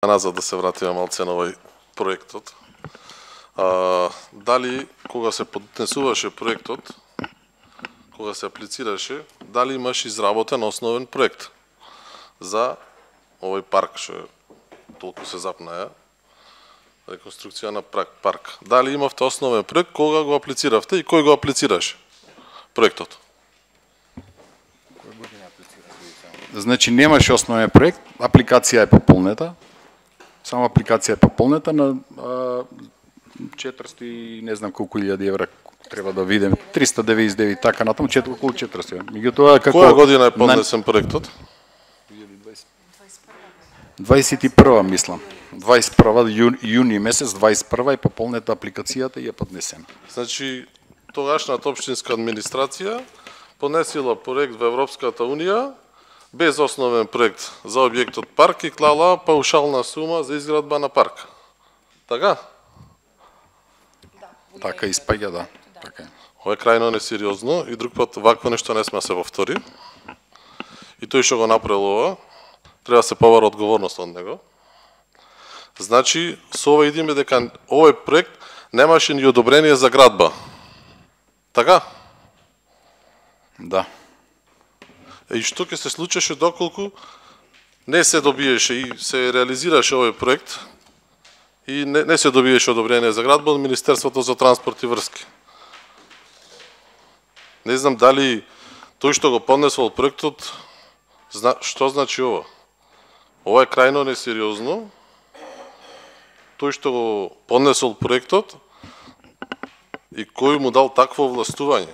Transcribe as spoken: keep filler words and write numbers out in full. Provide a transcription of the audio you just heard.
Назад да се вратиме малце на овој проектот. А, дали кога се поднесуваше проектот, кога се аплицираше, дали имаш изработен основен проект за овој парк што толку се запнаја, реконструкција на парк. Дали имавте основен проект, кога го аплициравте и кој го аплицираше проектот? Значи немаше основен проект, апликација е пополнета. Само апликација е пополнета на а, четиристотини и не знам колку илјади евра треба да видим, триста деветдесет и девет така натаму, четири околу четиристотини. Меѓутоа како која година е поднесен проектот? дваесет и прва мислам. дваесет и прва јуни, јуни месец дваесет и прва е пополнета апликацијата и е поднесена. Значи тогашната општинска администрација поднесила проект во Европската унија без основен проект за објектот парк и клала паушална сума за изградба на парк. Така? Така испаѓа, да. Така е. Ова е крајно несериозно и друг пат вакво нешто не сме да се повтори. И тој што го направил ова, треба да се побара одговорност од него. Значи, со ова идеме дека овој проект немаше ни одобрение за градба. Така? Да. И што ќе се случеше доколку не се добиеше и се реализираше овој проект и не, не се добиеше одобрение за градба од Министерството за транспорт и врски. Не знам дали тој што го поднесол проектот, зна, што значи ова? Ова е крајно несериозно. Тој што го поднесол проектот и кој му дал такво властување.